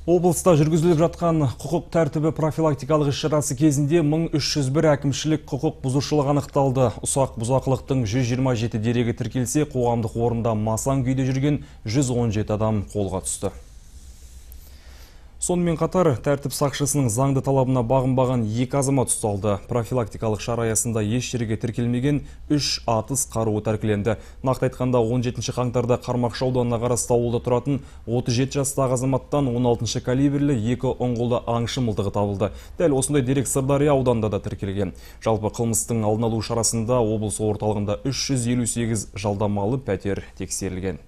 Облыста жүргізіліп жатқан құқық тәртібі профилактикалық іс-шарасы кезінде 1301 әкімшілік құқық бұзушылық анықталды. Ұсақ бұзақылықтың 127 дерегі тіркелсе, қоғамдық орында масаң күйде жүрген 117 адам қолға түсті. Сонымен қатар, тәртіп сақшысының заңды талабына бағынбаған 2 азамат ұсталды. Профилактикалық шара аясында еш жерге тіркелмеген 3 атыс қаруы тәркіленді. Нақты айтқанда 17 қаңтарда Қармақшы ауданына қарасты ауылда тұратын 37 жастағы азаматтан 16 калибрлі 2 ұңғылды аңшы мылтығы табылды. Дәл осындай дерек Сырдария ауданында да тіркелген. Жалпы қылмыстың алдын алу шарасында облыс орталығында 358 жалдамалы пәтер тексерілген.